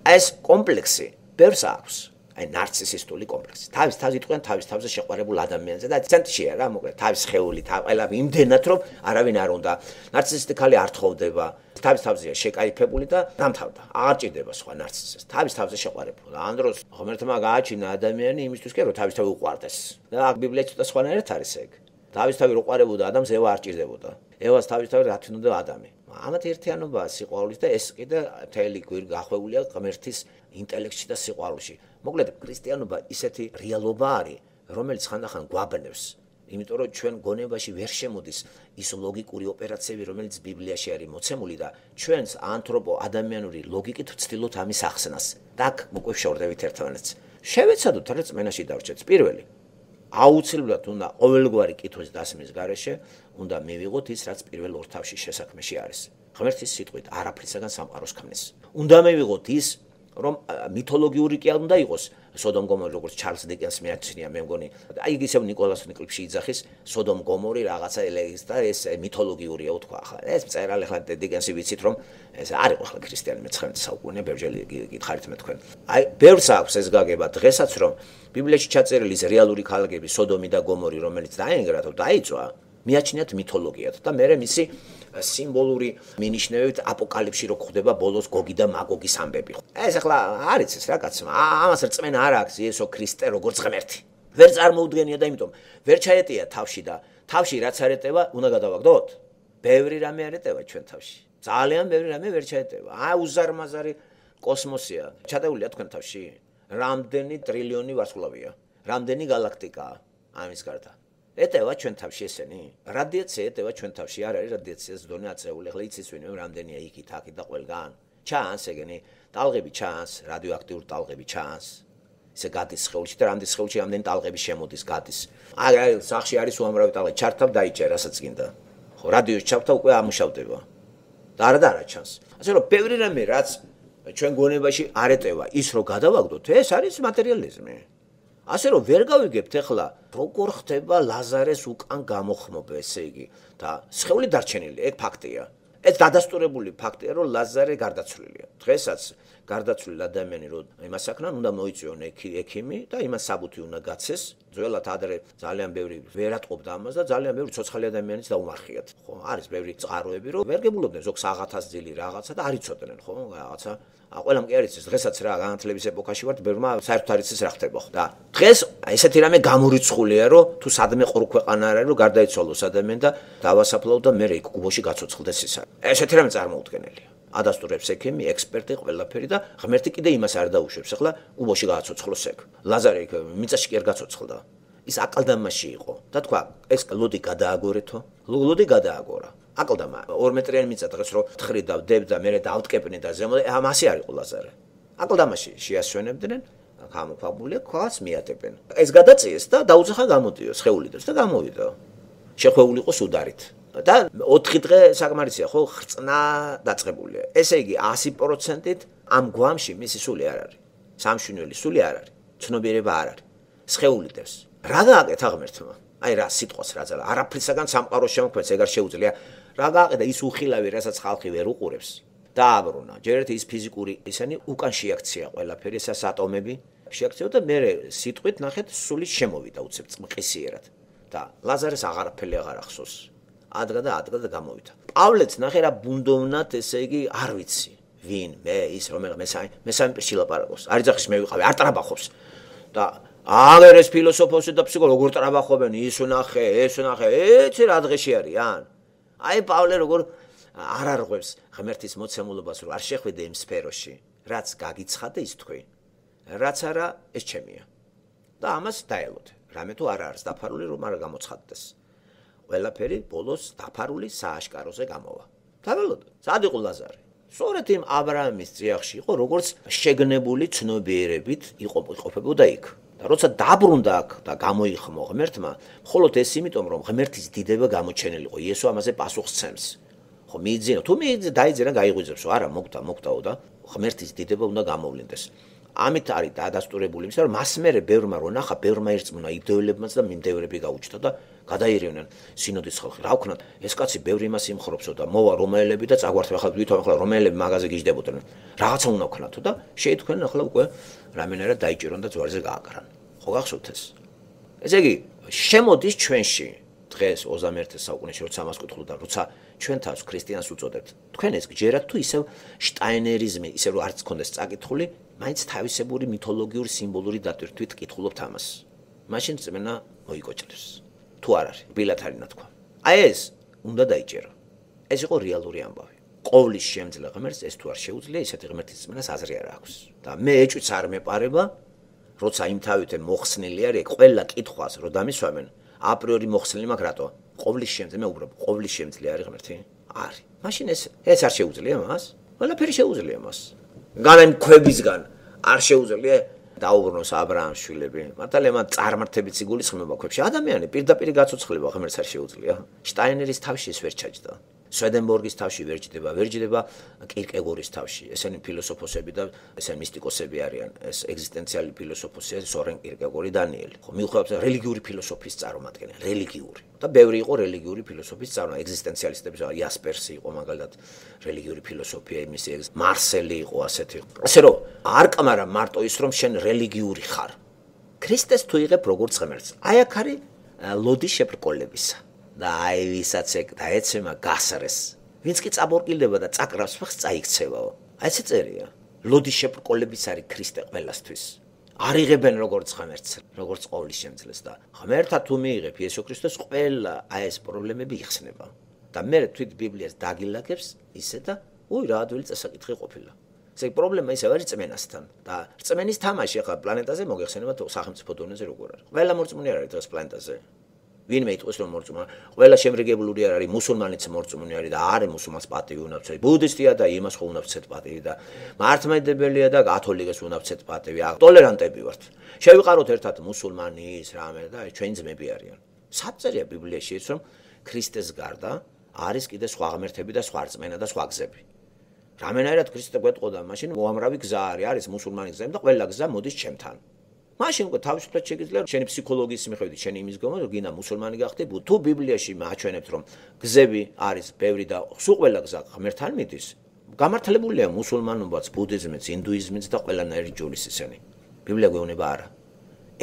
ეს კომპლექსი ბევრს აქვს. აი ნარცისისტული კომპლექსი. თავის თავზე იტყვიან თავის თავზე შეყვარებულ ადამიანზე და ცენტრშია რა, მოკლედ თავის სხეული, ყველა იმდენად რომ არავინ არ უნდა. ნარცისისტი ხალი არ თხოვდება. თავის თავზეა შეკაიფებული და დამთავრდა. აღარ ჭირდება სხვა ნარცისს. თავის თავზე შეყვარებულა. ამ დროს ღმერთმა გააჩინა ადამიანი იმისთვის, რომ თავის თავი უყვარდეს. და ბიბლიაში ცოტა სხვანაირად არის ეგ. თავის თავი რო ყვარებოდა ადამიანს ევა არ ჭირდებოდა. ევას თავის თავი რა თქონდა ადამი. ამათ ერთიანობაა სიყვარულის და ეს კიდე მთელი გვირ გახვეულია ღმერთის ინტელექტში და სიყვარულში. მოკლედ ქრისტიანობა ისეთი რეალობა არის, რომელიც ხანდახან გვაბნევს. იმიტომ რომ ჩვენ გონებაში ვერ შემოდის ის ლოგიკური ოპერაციები, რომელიც ბიბლიაში არის მოცემული და ჩვენს ანთროპო ადამიანური ლოგიკით ვცდილობთ ამის ახსნას. და აქ უკვე შევრდებით ერთმანეთს. შევეცადოთ რა რწმენაში დავჭერთ. პირველი, აუცილებლად უნდა ყოველგვარი კითხვის დასმის გარეშე უნდა მივიღოთ ის, რაც პირველ ორ თავში შესაქმეში არის. ღმერთის სიტყვით არაფრისაგან სამყაროს ქმნის. უნდა მივიღოთ ის, რომ მითოლოგიური კი არ უნდა იყოს სოდომ გომორი, როგორც ჩარლზ დიკენს მეაცნია, მე მგონი. აი ისევ ნიკოლას ნიკლიფში იძახის სოდომ გომორი რაღაცა ელეგის და ეს მითოლოგიურია უთქვა ახლა. ეს წერალი ახლა დიკენსი ვიცით რომ ეს არ იყო ახლა ქრისტიანი მე-19 საუკუნე, ბევრჯერ გითხარით მე თქვენ. აი ბევრს აქვს ეს გაგება დღესაც რომ ბიბლიაში ჩაწერილი ის რეალური ქალაქები სოდომი და გომორი, რომელიც დაენგრა თუ დაიწვა, მიაჩნიათ მითოლოგიად და მე მისი სიმბოლური მინიშნებით აპოკალიფში რო ხდება ბოლოს გოგი და მაგოგის ამბები. ეს ახლა არის ეს რაღაცა. ამას რწმენა არ აქვს იესო ქრისტე როგორც ღმერთი. ვერ წარმოუდგენია და იმიტომ ვერ ჩაეტია თავში და თავში რაც არ ეტევა, უნდა გადავაგდოთ. ბევრი რამე არ ეტევა ჩვენ თავში. ძალიან ბევრი რამე ვერ ჩაეტევა. უზარმაზარი კოსმოსია. ჩადეულია თქვენ თავში? რამდენი ტრილიონი ვარსკვლავია? რამდენი galaktikაა ამის გარდა? ეტევა ჩვენ თავში ესენი? რადიაცია ეტევა ჩვენ თავში? არ არის რადიაციას დონე აწეული. ახლა იცის ვინმე რამდენია იქით, აქით და ყველგან. ჩანს ეგენი, ტალღები ჩანს, რადიოაქტიური ტალღები ჩანს. ისე გადის სხეულში და რამდენი სხეულში რამდენი ტალღები შემოდის, გადის. აი, სახში არის უამრავი ტალღი, ჩართავ დაიჭერ, რასაც გინდა. ხო, რადიოს ჩავთავ, უკვე ამუშავდება. და არა ჩანს. ასე რომ ბევრი რამე რაც ჩვენ გონებაში არ ეტევა, ის რო გადავაგდოთ, ეს არის მატერიალიზმი. ასე რომ ვერ გავიგებთ ახლა როგორ ხდება ლაზარეს უკან გამოხმობა, ესე იგი და სხეული დარჩენილი, ეგ ფაქტია. ეს დადასტურებული ფაქტია, რომ ლაზარე გარდაცვლილია. დღესაც გარდაცვლილი ადამიანი რო იმას აკნან, უნდა მოიწვიონ ექიმი და იმას საბუთი უნდა გაცეს. ძველად ადრე ძალიან ბევრი ვერ ატყობდა ამას და ძალიან ბევრი ცოცხალი ადამიანიც დაუმარხიათ. ხო, არის ბევრი წყაროები, რომ ვერ გებულობდნენ ზოგს 1000 ძილი რაღაცა და არ იცოდნენ, ხო, რაღაცა. ყველამ კი არ იცის, დღესაც რა განათლების ეპოქაში ვართ, ბევრმა საერთოდ არ იცის რა ხდება, ხო. და დღეს ესეთი რამე გამორიცხულია, რომ თუ სადმე ყრუ ქვეყანა არ არის, რომ გარდაიცვალოს ადამიანი და დავასაფლავო და მე იქ კუბოში გაცოცხლდეს ისა. ესეთი რამე წარმოუდგენელია. ადასტურებს ექიმი, ექსპერტი, ყველაფერი და ღმერთი კიდე იმას არ დაუშვებს. ახლა კუბოში გააცოცხლოს ეგ. ლაზარე იქ მიწაში კი არ გაცოცხლდა. ის აკლდამაში იყო და თქვა, ეს ლოდი გადააგორეთო. ლოდი გადააგორა. აკლდამა 2 მეტრიანი მიწა დღეს რო თხრიდა და დებდა, მე დავტკეპნე და ზემოდე, ამასე არ იყო ლაზარე. აკლდამაში შეასვენებდნენ, გამოქვაბული ქვას მიატებენ. ეს გადაწიეს და დაუძახა გამოდიოს, ხეულიდოს და გამოვიდა. შეხვეული იყო სუდარით. და 4 დღე საკმარისია, ხო, ხრწნა დაწყებულია. ესე იგი 100%-ით ამ გვამში მისი სული არ არის. სამშვენიერი სული არ არის. ცნობიერება არ არის. შეეულიდებს. რა გააკეთა ღმერთმა? აი რა სიტყვას რა ძალა, არაფრისაგან სამყაროს შემოქმედს ეგ არ შეუძლია. რა გააკეთა ის უხილავი, რასაც ხალხი ვერ უყურებს. დააბრუნა. ჯერ ერთი ის ფიზიკური ისანი უკან შეაქცია ყველაფერი, ესას ატომები შეაქცია და მე სიტყვით ნახეთ სული შემოვიდა უცებ წყმყისიერად. და ლაზარეს აღარაფერი აღარ ახსოვს. ადგა და გამოვიდა. პავლეც ნახე რა ბუნდოვნად, ესე იგი, არ ვიცი. ვინ, მე, ის რომელ მესამე პირში ლაპარაკობს. არ იძახის მე ვიყავი, არ ტრაბახობს. და აგერ ეს ფილოსოფოსი და ფსიქოლოგი როგორ ტრაბახობენ, ის ვნახე, ეცი რა დღეში არიან. აი პავლე როგორ არ არღვევს ღმერთის მოცემულობას, რომ არ შეხვიდე იმ სფეროში, რაც გაგიცხადე ის თქვი. რაც არა, ეს ჩემია. და ამას დაელოდე. რამე თუ არ არის დაფარული, რომ არ გამოცხადდეს. ყველაფერი ბოლოს დაფარული სააშკაროზე გამოვა. დაველოდე. სად იყო ლაზარე? სწორედ იმ აბრაამის წიაღში იყო, როგორც შეგნებული ცნობიერებით იყოფებოდა იქ. და როცა დაბრუნდა აქ და გამოიხმო ღმერთმა, მხოლოდ ეს იმიტომ, რომ ღმერთის დიდება გამოჩენილი იყო. იესო ამაზე პასუხს ცემს. ხო, მიიძინო, თუ დაიძინა, გაიღვიძებსო, არა, მოგდაო და ღმერთის დიდება უნდა გამოვლინდეს. ამით არის დადასტურებული იმისა, რომ მას მერე ბევრმა რო ნახა, ბევრმა ერწმუნა იდეოლებმაც და მიმდევრები გაუჩნდა და გადაირევნენ სინოდის ხალხი. რა ვქნათ, ეს კაცი ბევრი იმას იმხრობსო და მოვა რომაელები და წაგვართვა ახლა ვითომ ახლა რომაელები მაღაზე გიждდებოდნენ. რაღაცა უნდა ვქნათო და შეითქვნენ ახლა უკვე რამენერად დაიჭირონ და ძვარზე გააკრან. ხო გახსოვთ ეს? ესე იგი, შემოდის ჩვენში დღეს 21 საუკუნეში როცა ამას კითხულობ და როცა ჩვენ თავს ქრისტიანს უწოდებთ. თქვენ ეს გჯერათ თუ ისევ შტაინერიზმი, ისე რომ არც გქონდეს წაკითხული, მაინც თავისებური მითოლოგიური სიმბოლური დატვირთვით კითხულობთ ამას. მაშინ წმენა მოიკოჭრებს. თუ არ არის, ბილათ არის ნათქვა. აი ეს უნდა დაიჭერო. ეს იყო რეალური ამბავი. ყოვლის შემძლე ღმერთს ეს თუ არ შეუძლია, ისეთი ღმერთის წმენას აზრი არ აქვს. და მე ეჭვიც არ მეპარება, როცა იმ თავითენ მოხსნილი არის, ყველა კითხვას რო დამისვამენ, აპრიორი მოხსნილი მაქვს რატო? ყოვლის შემძლე, მე უბრალოდ ყოვლის შემძლე არის ღმერთი? არის. მაშინ ეს არ შეუძლია მას? ყველაფერი შეუძლია მას. განაიმ ქვებისგან არ შეუძლია დაუბრუნოს აბრაამის შვილები. მართალია მან წარმართებით იგულისხმება ქვებში. ადამიანი პირდაპირ გაცოცხლება ღმერთს არ შეუძლია. შტაინერის თავში ეს ვერ ჩაჯდა. სვედენბორგის თავში ვერ ჯდება კირკეგორის თავში. ესენი ფილოსოფოსები და ესენი მისტიკოსები არიან. ეს ეგზისტენციალური ფილოსოფოსია სორენ კირკეგორი, დანიელი. ხო, მიუხედავად რელიგიური ფილოსოფიის წარმომადგენელი, რელიგიური. და ბევრი იყო რელიგიური ფილოსოფიის წარმომადგენელი, ეგზისტენციალისტები, იასპერსი იყო მაგალითად რელიგიური ფილოსოფია, მისი მარსელი იყო ასეთი. ასე რომ არ კმარა მარტო ის რომ შენ რელიგიური ხარ. ქრისტეს თუ იღებ როგორც ღმერთს. აი აქ არის ლოდი შებრკოლებისა. და აი ვისაც ეგ დაეცემა გასრეს. ვინც კი წაბორკილდება და წაკრავს ფეხს წაიქცევაო. აი ესე წერია. ლოდი შებრკოლების არის ქრისტე ყველასთვის. არ იღებენ როგორც ღმერთს, როგორც ყოვლის შემძლეს და ღმერთა თუ მიიღებ იესო ქრისტეს ყველა აი ეს პრობლემები იხსნება. და მე თვით ბიბლიას დაგილაგებს ისე და რა ადვილი წესაკითხი ყოფილა. ესე პრობლემა ისე არის წმენასთან და წმენის თამაში ახლა პლანეტაზე მოგეხსენება სახელმწიფო დონეზე როგორ არის. ყველა მორწმუნე არ არის დღეს პლანეტაზე. ვინმე იტყვის რომ მორწმუნე, ყველა შემრიგებლური არ არის, მუსულმანიც მორწმუნე არის და არის მუსულმანს პატივი უნდა ვცეთ. ბუდისტია და იმას ხო უნდა ვცეთ პატივი და მართლმადიდებელია და კათოლიკეს უნდა ვცეთ პატივი. ტოლერანტები ვართ. შევიყაროთ ერთად მუსულმანის რამე და ჩვენ ძმები არიან. საწერია ბიბლიაში ის რომ ქრისტეს გარდა არის კიდე სხვა ღმერთები და სხვა რწმენა და სხვა გზები. რამენაირად ქრისტე გვეტყოდა, მაშინ უამრავი გზა არის მუსულმანის გზა და ყველა გზა მოდის ჩემთან. მაშინ უკვე თავისუფლად შეგიძლია შენი ფსიქოლოგიის მიხედვით შენი იმის გამო რომ გინდა მუსულმანი გახდე, თუ ბიბლიაში მაჩვენებთ რომ გზები არის ბევრი და სულ ყველა გზა ღმერთთან მიდის, გამართლებულია მუსულმანობაც, ბუდიზმიც, ინდუიზმიც და ყველანაირი ჯურის ისინი. ბიბლია გვეუბნება არა.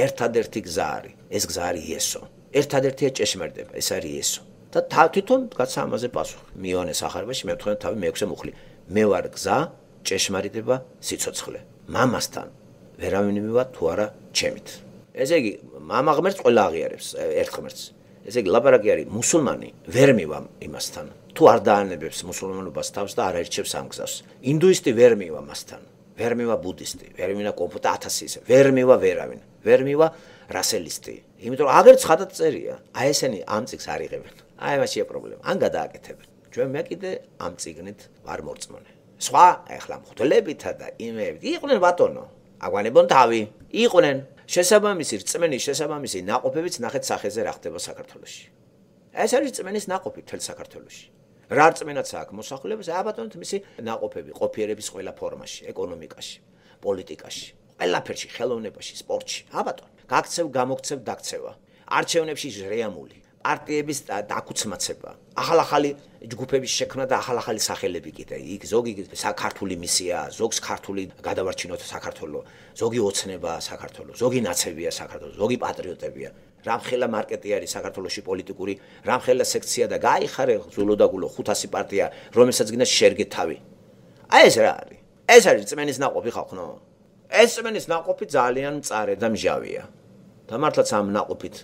ერთადერთი გზა არის, ეს გზა არის იესო. ერთადერთია ჭეშმარიტება, ეს არის იესო. და თვითონ გაცა ამაზე პასუხი. მიანე სახარებაში მე ვთქვენ თავი მე-6 მუხლი. მე ვარ გზა, ჭეშმარიტება, სიცოცხლე. მამასთან ვერავინ მივა თუ არა ჩემით. ესე იგი, მამა ღმერთს ყველა აღიარებს ერთ ღმერთს. ესე იგი, ლაპარაკი არის მუსულმანი ვერ მივა იმასთან. თუ არ დაანებებს მუსულმანობას თავს და არ აირჩევს ამ გზას. ინდუისტი ვერ მივა მასთან. ვერ მივა ბუდისტი, ვერ მივა კონფუცი 1000 ისე. ვერ მივა ვერავინ. ვერ მივა რასელისტი. იმიტომ რომ აგერ ცხადად წერია. აი ესენი ამ წიგს არ იღებენ. აი მაშია პრობლემა. ან გადააკეთებენ. ჩვენ მე კიდე ამ წიგნით ვარ მორწმუნე. სხვა ეხლა მღვდლებითა და იმეებით იყვნენ ბატონო. აგვანებონ თავი. იყვნენ შესაბამისი რწმენის შესაბამისი ნაყოფებიც ნახეთ სახეზე რა ხდება საქართველოში. ეს არის რწმენის ნაყოფი მთელ საქართველოში. რა რწმენაც აქვს მოსახლეობას, ბატონო მისი ნაყოფები ყოფიერების ყველა ფორმაში, ეკონომიკაში, პოლიტიკაში, ყველაფერში, ხელოვნებაში, სპორტში. ბატონო, გაქცევ, გამოგცევ, დაქცევა. არჩევნებში რეამული, პარტიების დაკუცმაცება, ახალ-ახალი ჯგუფების შექმნა და ახალ-ახალი სახელები კიდე. იქ ზოგი საქართველოს მისია, ზოგს ქართული გადავარჩინოთ საქართველოს, ზოგი ოცნება საქართველოს, ზოგი ნაცებია საქართველოს, ზოგი პატრიოტებია. რამხელა მარკეტი არის საქართველოში პოლიტიკური, რამხელა სექცია და გაიხარე ზულოდაგულო 500 პარტია, რომელსაც გინდა შერგე თავი. აი ეს რა არის? ეს არის რწმენის ნაყოფი ხალხო. ეს რწმენის ნაყოფი ძალიან მწარე და მჟავია. და მართლაც ამ ნაყოფით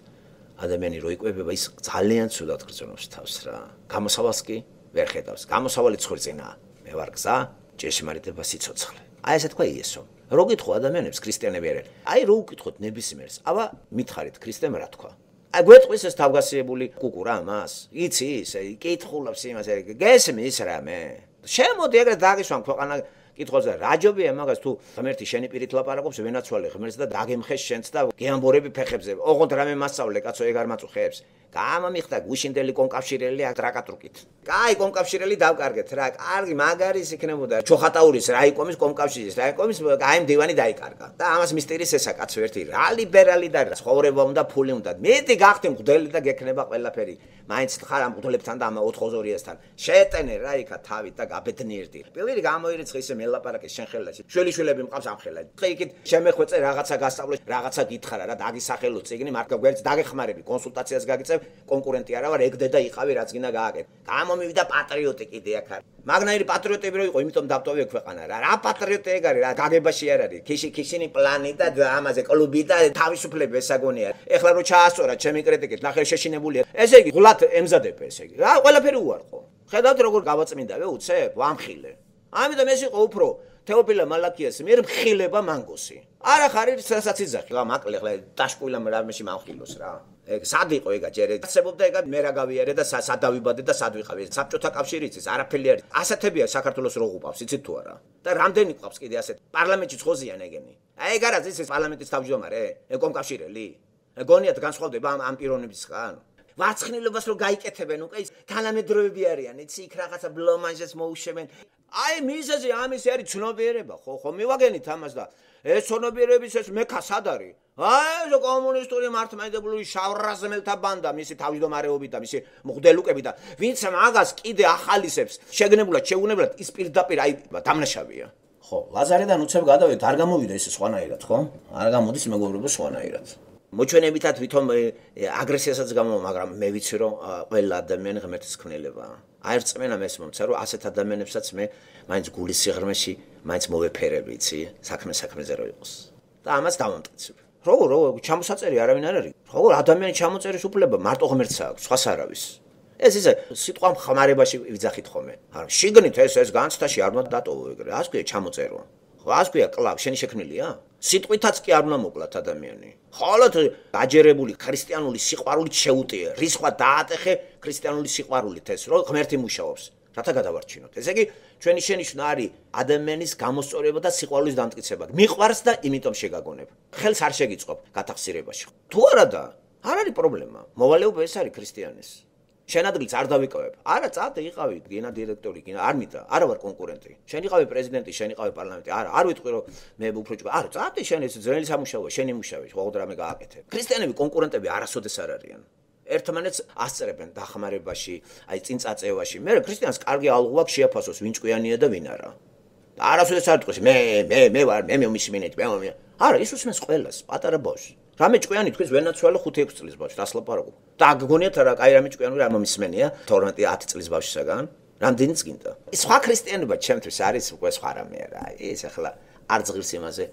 ადამიანი რო იკვებება, ის ძალიან ცუდად გრძნობს თავს რა. გამოსავალს კი ვერ ხედავს. გამოსავალი ცხვრწინაა. მე ვარ გზა, ჭეშმარიტება, სიცოცხლე. აი ესე თქვა იესო. რო გითხო ადამიანებს ქრისტიანები არიან. აი რო უკითხოთ ნებისმიერს, აბა მითხარით ქრისტემ რა თქვა. აი გვეტყვის ეს თავგასიებული კუკურა მას. იცი ისე კითხულობს იმას, გესმის რამე. შემოდი ეგრე დაგისვამ ქვეყანა კითხოს და რა ჯობია მაგას თუ ღმერთი შენი პირით ლაპარაკობს, ვენაცვალე ღმერთს და დაგემხეს შენც და გეამბორები ფეხებზე. ოღონდ რამე მასწავლე კაცო ეგ არ მაწუხებს. გამამიხდა გუშინდელი კონკავშირელი აკრაკატრუკით. კაი კონკავშირელი დავკარგეთ რა. კარგი მაგარის იქნებოდა. ჩოხატაურის რაიკომის კონკავშირის რაიკომის აი მდივანი დაიკარგა. და ამას მისტერის ესა კაცო ერთი რა ლიბერალი და ცხოვრება უნდა ფული უნდა. მეტი გახდი მღვდელი და გექნება ყველაფერი. მაინც ხარ ამ მღვდლებთან და ამ 4-2-ასთან. შეეტენე რა იქა თავით და გაბედნიერდი. პირველი გამოირიცხე ისე მელაპარაკე შენ ხელაში. შვილიშვილები მყავს ამ ხელა. ხე იქით შემეხვეწე რაღაცა გასწავლე, რაღაცა გითხარა რა დაგისახელო წიგნი, მარტო გვერდს დაგეხმარები, კონსულტაციას გაგიწევ, კონკურენტი არა ვარ, ეგ დედა იყავი რაც გინდა გააკეთე. გამომივიდა პატრიოტი კიდე აქ არის. მაგნაირი პატრიოტები რო იყო, იმიტომ დავტოვე ქვეყანა რა. რა პატრიოტი ეგ არის რა, გაგებაში არ არის. ქიშინი პლანი და ამაზე კლუბი და თავისუფლება ესაგონია. ეხლა რო ჩაასწორა ჩემი კრიტიკით, ნახე შეშინებულია. ესე იგი ღლად ემზადებ ესე იგი. რა ყველაფერი უარყო. ხედავთ როგორ გავაწმინდავე უცებ, ვამხილე. ამიტომ ეს იყო უფრო თეოფილე მალაკიას მიერ მხილება მანგოსი. არა ხარ რასაც იძახი. მაკლე ხლა დაშკვილა რამეში მამხილოს რა. ეგ სად იყო ეგა ჯერ ეცებობდა ეგა მე რა გავიარე და სად დავიბადე და სად ვიყავი. საბჭოთა კავშირი იცის არაფერი არის. ასეთებია საქართველოს რო უყავს, იცით თუ არა? და რამდენი ყავს კიდე ასეთ პარლამენტში ხოზიან ეგენი. აი ეგ არა ის პარლამენტის თავმჯდომარე, ეგ კომკავშირელი. გონიათ განსხვავდება ამ პიროვნებისგან. ვარცხნილობას რო გაიკეთებენ უკვე ის თანამედროვეები არიან, იცი იქ რაღაცა ბლომანჟეს მოუშვენ. აი მიზეზი ამის არის ცნობიერება, ხო მივაგენით ამას და ეს ცნობიერების ეს მექა სად არის? აი ეს კომუნისტური მართლმადიდებლური შავრაზმელთა ბანდა, მისი თავმჯდომარეობით და მისი მღვდელუკები და ვინც მაგას კიდე ახალისებს, შეგნებულად, შეუნებლად ის პირდაპირ აი დამნაშავეა. ხო, ლაზარედან უცებ გადავით, არ გამოვიდა ეს სხვანაირად, ხო? არ გამოდის მეგობრებო სხვანაირად. მოჩვენებითად ვითომ აგრესიასაც გამო, მაგრამ მე ვიცი რომ ყველა ადამიანი ღმერთის ქმნილებაა. აი რწმენა მეს მომცა რომ ასეთ ადამიანებსაც მე მაინც გულის სიღრმეში მაინც მოვეფერებ, იცი, საქმეზე რო იყოს. და ამას დავამტკიცებ. როგორ ჩამოსაწერი არავინ არ არის. როგორ ადამიანი ჩამოწერის უფლება მარტო ღმერთს აქვს, სხვას არავის. ეს ისე სიტყვა ხმარებაში ვიძახით ხოლმე. არა, შიგნით ეს განცდაში არ უნდა დატოვო ეგრე. ასე ქვია ჩამოწერო. ხო, ასე ქვია კლავ, შენი შექმნილია? სიტყვითაც კი არ უნდა მოკლათ ადამიანი. ხოლოდ გაჯერებული ქრისტიანული სიყვარულით შეუტიე. რისხვა დაატეხე ქრისტიანული სიყვარულით ეს, რომ ღმერთი მუშაობს. რათა გადავარჩინოთ. ესე იგი, ჩვენი შენიშვნა არის ადამიანის გამოსწორება და სიყვარულის დამტკიცება. მიყვარს და იმიტომ შეგაგონებ. ხელს არ შეგიწყობ გათახსირებაში. თუ არა და არ არის პრობლემა. მოვალეობა ეს არის ქრისტიანის. შენ ადგილს არ დავიკავებ. არა, წადე იყავი გენა დირექტორი, გენა არ მითხრა, არა ვარ კონკურენტი. შენ იყავი პრეზიდენტი, შენ იყავი პარლამენტი. არა, არ ვიტყვი რომ მე უფრო ჭკვა. არა, წადე შენ ეს ძველი სამუშაოა, შენი მუშაობა, ხოდრ რამე გააკეთე. ქრისტიანები კონკურენტები არასოდეს არ არიან. ერთმანეთს ასწრებენ დახმარებაში, აი წინ წაწევაში. მე ქრისტიანს კარგი ალღუ აქვს შეაფასოს ვინ ჭკვიანია და ვინ არა. არასოდეს არ თქვის მე ვარ, მე მომისმინეთ, მე. არა, ის უსმენს ყველას, პატარა ბავშვს. რამე ჭკვიანი თქვის ვენაცვალა 5-6 წლის ბავშვს, დასლაპარაკო. და გგონიათ რა, აი რამე ჭკვიანი არ მომისმენია 12-10 წლის ბავშვისაგან. რამდენიც გინდა. სხვა ქრისტიანობა ჩემთვის არის უკვე სხვა რამე რა. ის ახლა არ ზღირს იმაზე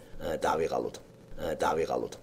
დავიღალოთ.